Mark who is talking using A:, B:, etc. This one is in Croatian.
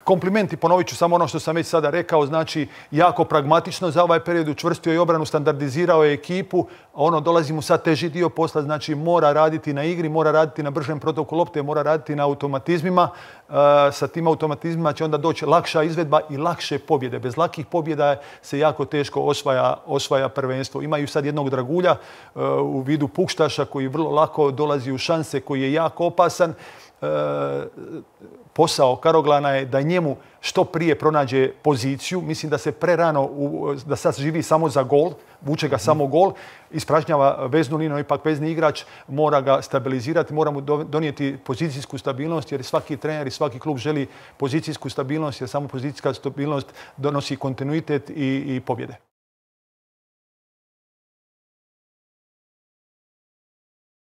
A: Komplimenti, ponovit ću samo ono što sam već sada rekao, znači jako pragmatično za ovaj period, učvrstio je obranu, standardizirao je ekipu, dolazi mu sad teži dio posla, znači mora raditi na igri, mora raditi na bržem protoku lopte, mora raditi na automatizmima. Sa tim automatizmima će onda doći lakša izvedba i lakše pobjede. Bez lakih pobjeda se jako teško osvaja prvenstvo. Imaju sad jednog dragulja u vidu Pukštaša koji vrlo lako dolazi u šanse, koji je jako opasan. Posao Karoglana je da njemu što prije pronađe poziciju. Mislim da se prerano, da sad živi samo za gol, vuče ga samo gol, ispražnjava veznu liniju, ipak vezni igrač, mora ga stabilizirati, mora mu donijeti pozicijsku stabilnost, jer svaki trener i svaki klub želi pozicijsku stabilnost, jer samo pozicijska stabilnost donosi kontinuitet i pobjede.